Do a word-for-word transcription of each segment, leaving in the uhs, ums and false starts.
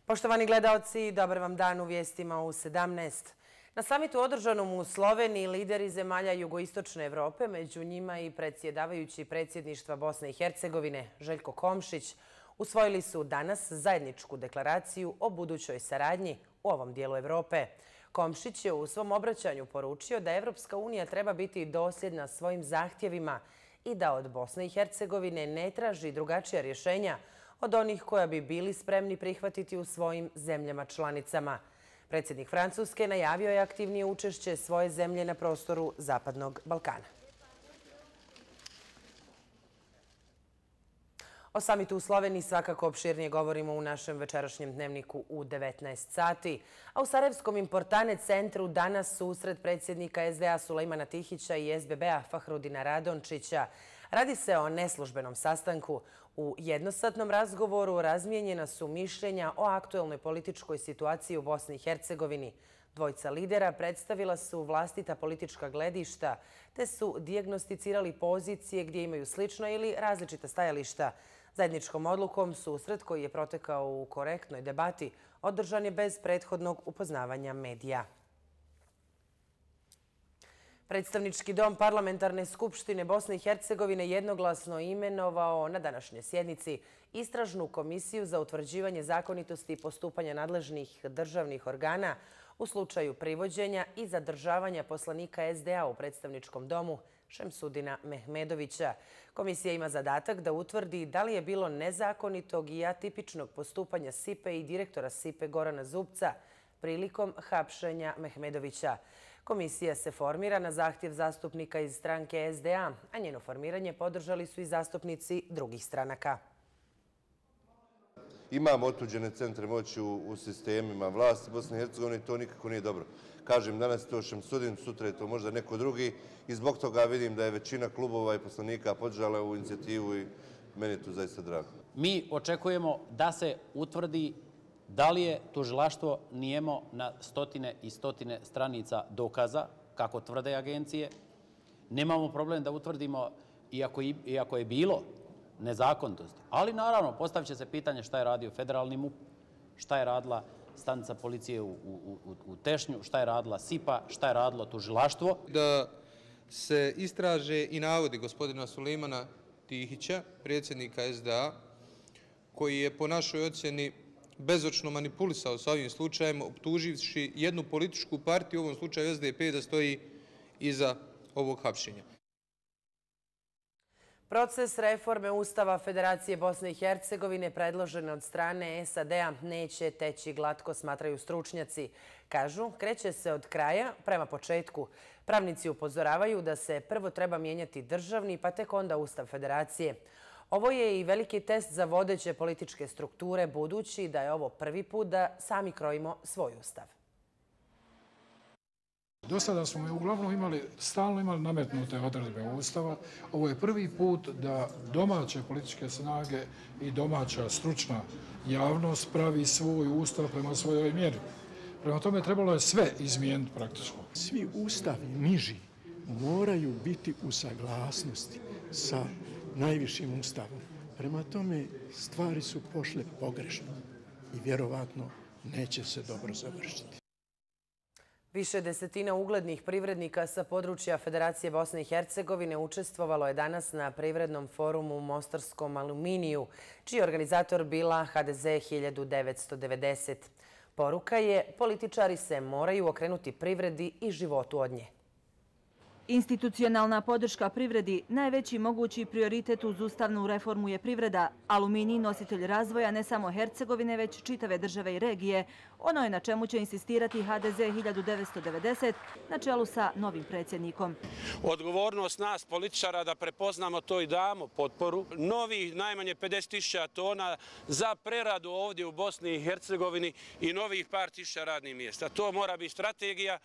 Poštovani gledaoci, dobar vam dan u vijestima u sedamnaest. Na samitu održanom u Sloveniji lideri zemalja jugoistočne Evrope, među njima i predsjedavajući predsjedništva Bosne i Hercegovine Željko Komšić, usvojili su danas zajedničku deklaraciju o budućoj saradnji u ovom dijelu Evrope. Komšić je u svom obraćanju poručio da Evropska unija treba biti dosljedna svojim zahtjevima i da od Bosne i Hercegovine ne traži drugačija rješenja od onih koja bi bili spremni prihvatiti u svojim zemljama članicama. Predsjednik Francuske najavio je aktivnije učešće svoje zemlje na prostoru Zapadnog Balkana. O samitu u Sloveniji svakako opširnije govorimo u našem večerašnjem dnevniku u devetnaest sati. A u Sarajevskom Importane centru danas susret predsjednika S D A Sulejmana Tihića i S B B-a Fahrudina Radončića. Radi se o neslužbenom sastanku. U jednosatnom razgovoru razmijenjena su mišljenja o aktuelnoj političkoj situaciji u Bosni i Hercegovini. Dvojica lidera predstavila su vlastita politička gledišta te su dijagnosticirali pozicije gdje imaju slična ili različita stajališta. Zajedničkom odlukom susret koji je protekao u korektnoj debati održan je bez prethodnog upoznavanja medija. Predstavnički dom Parlamentarne skupštine Bosne i Hercegovine jednoglasno imenovao na današnjoj sjednici istražnu komisiju za utvrđivanje zakonitosti i postupanja nadležnih državnih organa u slučaju privođenja i zadržavanja poslanika S D A u predstavničkom domu Šemsudina Mehmedovića. Komisija ima zadatak da utvrdi da li je bilo nezakonitog i atipičnog postupanja S I P E i direktora S I P E Gorana Zubca prilikom hapšenja Mehmedovića. Komisija se formira na zahtjev zastupnika iz stranke S D A, a njeno formiranje podržali su i zastupnici drugih stranaka. Imamo otuđene centre moći u, u sistemima vlasti Bosne i Hercegovine i to nikako nije dobro. Kažem, danas je to Šemsudin, sutra je to možda neko drugi i zbog toga vidim da je većina klubova i poslanika podržala ovu inicijativu i meni je to zaista drago. Mi očekujemo da se utvrdi da li je tužilaštvo nijemo na stotine i stotine stranica dokaza, kako tvrde agencije. Nemamo problem da utvrdimo iako, iako je bilo nezakonitosti. Ali naravno, postavit će se pitanje šta je radio federalni M U P, šta je radila stanica policije u, u, u, u Tešnju, šta je radila S I P A, šta je radilo tužilaštvo. Da se istraže i navodi gospodina Sulejmana Tihića, predsjednika S D A, koji je po našoj ocjeni bezočno manipulisao sa ovim slučajem, optuživši jednu političku partiju, u ovom slučaju S D P, da stoji iza ovog hapšenja. Proces reforme Ustava Federacije Bosne i Hercegovine predložen od strane S A D-a neće teći glatko, smatraju stručnjaci. Kažu, kreće se od kraja prema početku. Pravnici upozoravaju da se prvo treba mijenjati državni, pa tek onda Ustav Federacije. Ovo je i veliki test za vodeće političke strukture, budući da je ovo prvi put da sami krojimo svoj ustav. Do sada smo uglavnom imali, stalno imali nametnute odredbe Ustava. Ovo je prvi put da domaće političke snage i domaća stručna javnost pravi svoj ustav prema svojoj mjeri. Prema tome trebalo je sve izmijeniti praktično. Svi ustavi niži moraju biti u saglasnosti sa najvišim ustavom. Prema tome stvari su pošle pogrešno i vjerovatno neće se dobro završiti. Više desetina uglednih privrednika sa područja Federacije Bosne i Hercegovine učestvovalo je danas na privrednom forumu u Mostarskom Aluminiju, čiji je organizator bila H D Z hiljadu devetsto devedeset. Poruka je, političari se moraju okrenuti privredi i životu od nje. Institucionalna podrška privredi, najveći mogući prioritet uz ustavnu reformu je privreda. Aluminij, nositelj razvoja ne samo Hercegovine, već čitave države i regije. Ono je na čemu će insistirati H D Z hiljadu devetsto devedeset na čelu sa novim predsjednikom. Odgovornost nas, političara, da prepoznamo to i damo potporu. Novih najmanje pedeset tisuća tona za preradu ovdje u Bosni i Hercegovini i novih par tisuća radnih mjesta. To mora biti strategija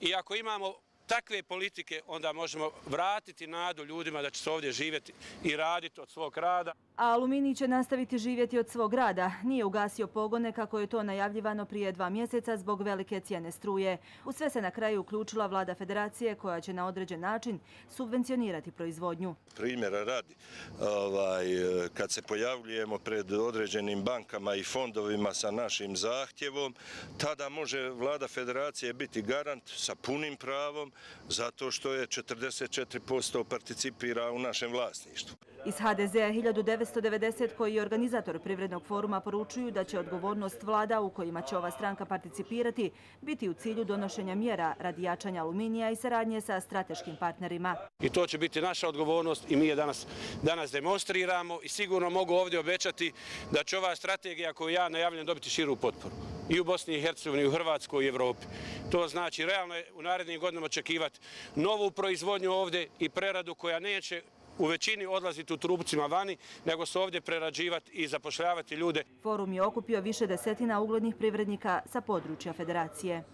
i ako imamo takve politike, onda možemo vratiti nadu ljudima da će se ovdje živjeti i raditi od svog rada. A Aluminij će nastaviti živjeti od svog rada. Nije ugasio pogone kako je to najavljivano prije dva mjeseca zbog velike cijene struje. U sve se na kraju uključila vlada federacije koja će na određen način subvencionirati proizvodnju. Primjera radi, ovaj, kad se pojavljujemo pred određenim bankama i fondovima sa našim zahtjevom, tada može vlada federacije biti garant sa punim pravom zato što je četrdeset četiri posto participira u našem vlasništvu. Iz ha de zea hiljadu devetsto devedeset koji je organizator Privrednog foruma poručuju da će odgovornost vlada u kojima će ova stranka participirati biti u cilju donošenja mjera radi jačanja Aluminija i saradnje sa strateškim partnerima. I to će biti naša odgovornost i mi je danas, danas demonstriramo i sigurno mogu ovdje obećati da će ova strategija koju ja najavljam dobiti širu potporu. I u Bosni i Hercegovini, i u Hrvatskoj i Evropi. To znači realno je u narednim godinama očekivati novu proizvodnju ovdje i preradu koja neće u većini odlaziti u trupcima vani, nego se ovdje prerađivati i zapošljavati ljude. Forum je okupio više desetina uglednih privrednika sa područja federacije.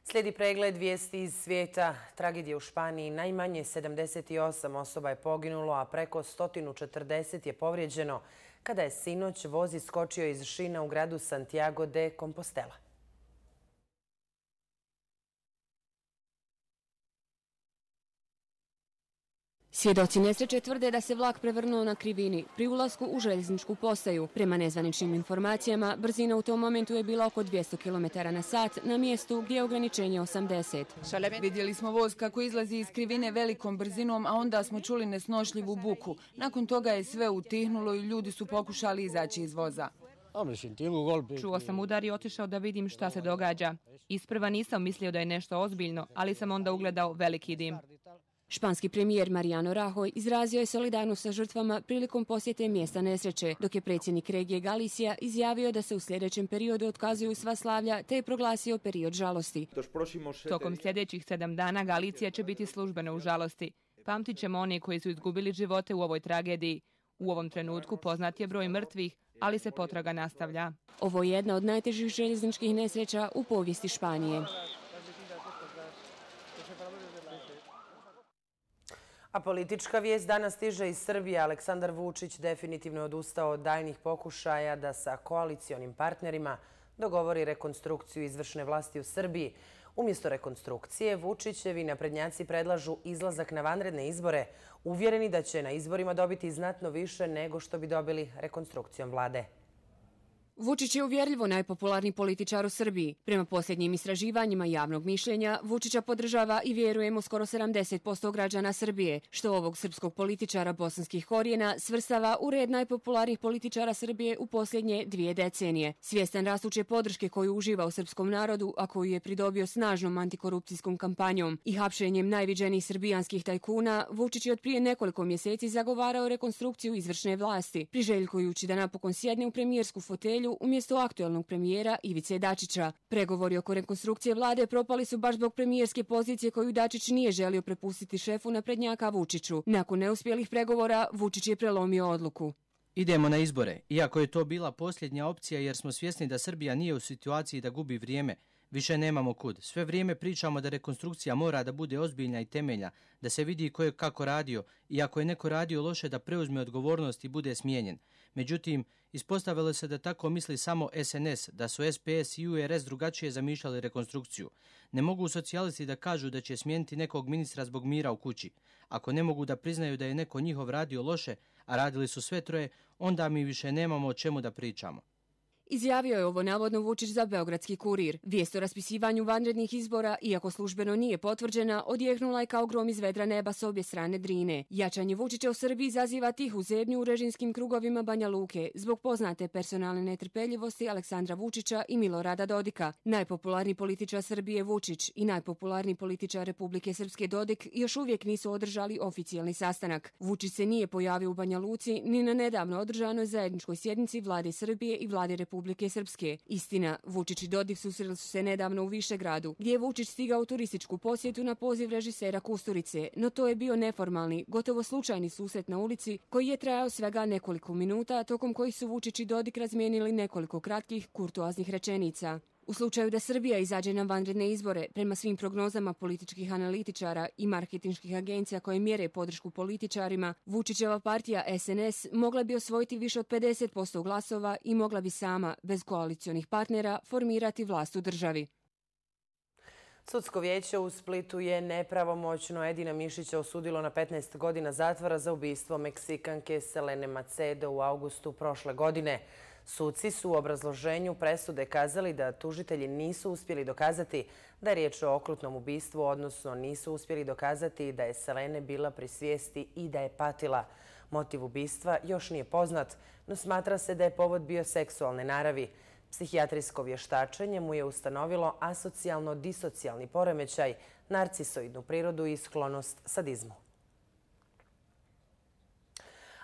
Slijedi pregled vijesti iz svijeta. Tragedije u Španiji. Najmanje sedamdeset osam osoba je poginulo, a preko sto četrdeset je povrijeđeno kada je sinoć voz iskočio iz šina u gradu Santiago de Compostela. Svjedoci nesreće tvrde da se vlak prevrnuo na krivini pri ulasku u željezničku postaju. Prema nezvaničnim informacijama, brzina u tom momentu je bila oko dvjesto kilometara na sat na mjestu gdje je ograničenje osamdeset. Vidjeli smo voz kako izlazi iz krivine velikom brzinom, a onda smo čuli nesnošljivu buku. Nakon toga je sve utihnulo i ljudi su pokušali izaći iz voza. Čuo sam udar i otišao da vidim šta se događa. Isprva nisam mislio da je nešto ozbiljno, ali sam onda ugledao veliki dim. Španski premijer Mariano Rajoy izrazio je solidarnost sa žrtvama prilikom posjete mjesta nesreće, dok je predsjednik regije Galicija izjavio da se u sljedećem periodu otkazuju sva slavlja te je proglasio period žalosti. Tokom sljedećih sedam dana Galicija će biti službeno u žalosti. Pamtit ćemo one koji su izgubili živote u ovoj tragediji. U ovom trenutku poznat je broj mrtvih, ali se potraga nastavlja. Ovo je jedna od najtežih željezničkih nesreća u povijesti Španije. A politička vijest danas stiže iz Srbije. Aleksandar Vučić definitivno je odustao od daljnjih pokušaja da sa koalicionim partnerima dogovori rekonstrukciju izvršne vlasti u Srbiji. Umjesto rekonstrukcije, Vučićevi naprednjaci predlažu izlazak na vanredne izbore, uvjereni da će na izborima dobiti znatno više nego što bi dobili rekonstrukcijom vlade. Vučić je uvjerljivo najpopularniji političar u Srbiji. Prema posljednjim istraživanjima javnog mišljenja, Vučića podržava i vjerujemo skoro sedamdeset posto građana Srbije, što ovog srpskog političara bosanskih korijena svrstava u red najpopularnijih političara Srbije u posljednje dvije decenije. Svjestan rastuće podrške koju uživa u srpskom narodu, a koju je pridobio snažnom antikorupcijskom kampanjom i hapšenjem najviđenijih srbijanskih tajkuna, Vučić je od prije nekoliko mjeseci zagovarao rekonstrukciju izvršne vlasti, priželjkujući da napokon sjedne u premijersku fotelju umjesto aktuelnog premijera Ivice Dačića. Pregovori oko rekonstrukcije vlade propali su baš zbog premijerske pozicije koju Dačić nije želio prepustiti šefu naprednjaka Vučiću. Nakon neuspjelih pregovora, Vučić je prelomio odluku. Idemo na izbore, iako je to bila posljednja opcija jer smo svjesni da Srbija nije u situaciji da gubi vrijeme. Više nemamo kud. Sve vrijeme pričamo da rekonstrukcija mora da bude ozbiljna i temeljna, da se vidi ko je kako radio i ako je neko radio loše da preuzme odgovornost i bude smijenjen. Međutim, ispostavilo se da tako misli samo es en es, da su es pe es i u er es drugačije zamišljali rekonstrukciju. Ne mogu socijalisti da kažu da će smijeniti nekog ministra zbog mira u kući. Ako ne mogu da priznaju da je neko njihov radio loše, a radili su sve troje, onda mi više nemamo o čemu da pričamo. Izjavio je ovo navodno Vučić za Beogradski kurir. Vijest o raspisivanju vanrednih izbora, iako službeno nije potvrđena, odjehnula je kao grom iz vedra neba s obje strane Drine. Jačanje Vučića u Srbiji izaziva tihu zebnju u režimskim krugovima Banja Luke zbog poznate personalne netrpeljivosti Aleksandra Vučića i Milorada Dodika. Najpopularniji političar Srbije Vučić i najpopularniji političar Republike Srpske Dodik još uvijek nisu održali oficijalni sastanak. Vučić se nije pojavio u Banja Luci ni na nedavno održanoj zajedničkoj sjednici vlade Srbije i vlade Republike Republike Srpske. Istina, Vučić i Dodik susreli su se nedavno u Višegradu, gdje je Vučić stigao u turističku posjetu na poziv režisera Kusturice, no to je bio neformalni, gotovo slučajni susret na ulici koji je trajao svega nekoliko minuta, tokom kojih su Vučić i Dodik razmijenili nekoliko kratkih kurtoaznih rečenica. U slučaju da Srbija izađe na vanredne izbore, prema svim prognozama političkih analitičara i marketinških agencija koje mjere podršku političarima, Vučićeva partija S N S mogla bi osvojiti više od pedeset posto glasova i mogla bi sama, bez koalicionih partnera, formirati vlast u državi. Sudsko vijeće u Splitu je nepravomoćno Edina Mišića osudilo na petnaest godina zatvora za ubistvo Meksikanke Selene Macedo u avgustu prošle godine. Suci su u obrazloženju presude kazali da tužitelji nisu uspjeli dokazati da je riječ o okrutnom ubistvu, odnosno nisu uspjeli dokazati da je Selene bila pri svijesti i da je patila. Motiv ubistva još nije poznat, no smatra se da je povod bio seksualne naravi. Psihijatrijsko vještačenje mu je ustanovilo asocijalno-disocijalni poremećaj, narcisoidnu prirodu i sklonost sadizmu.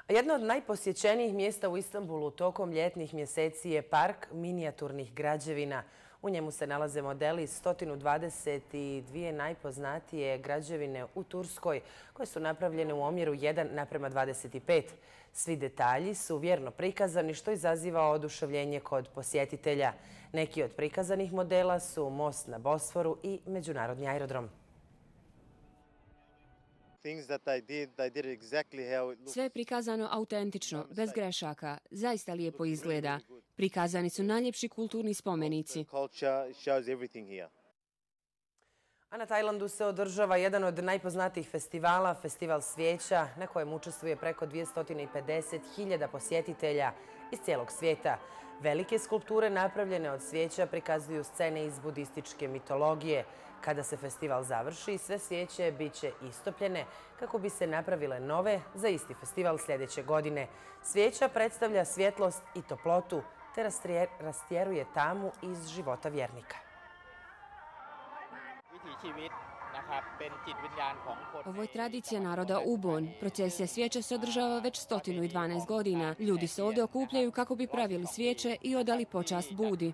Jedno od najposjećenijih mjesta u Istanbulu tokom ljetnih mjeseci je park minijaturnih građevina. U njemu se nalaze modeli sto dvadeset dvije najpoznatije građevine u Turskoj koje su napravljene u omjeru jedan naprema dvadeset pet. Svi detalji su vjerno prikazani što izaziva oduševljenje kod posjetitelja. Neki od prikazanih modela su most na Bosforu i međunarodni aerodrom. Sve je prikazano autentično, bez grešaka. Zaista lijepo izgleda. Prikazani su najljepši kulturni spomenici. A na Tajlandu se održava jedan od najpoznatijih festivala, Festival svijeća, na kojem učestvuje preko dvjesto pedeset hiljada posjetitelja iz cijelog svijeta. Velike skulpture napravljene od svijeća prikazuju scene iz budističke mitologije. Kada se festival završi, sve svijeće bit će istopljene kako bi se napravile nove za isti festival sljedeće godine. Svijeća predstavlja svjetlost i toplotu te rastjeruje tamu iz života vjernika. Ovo je tradicija naroda Ubon. Procesija svijeća se održava već sto dvanaest godina. Ljudi se ovdje okupljaju kako bi pravili svijeće i odali počast Budi.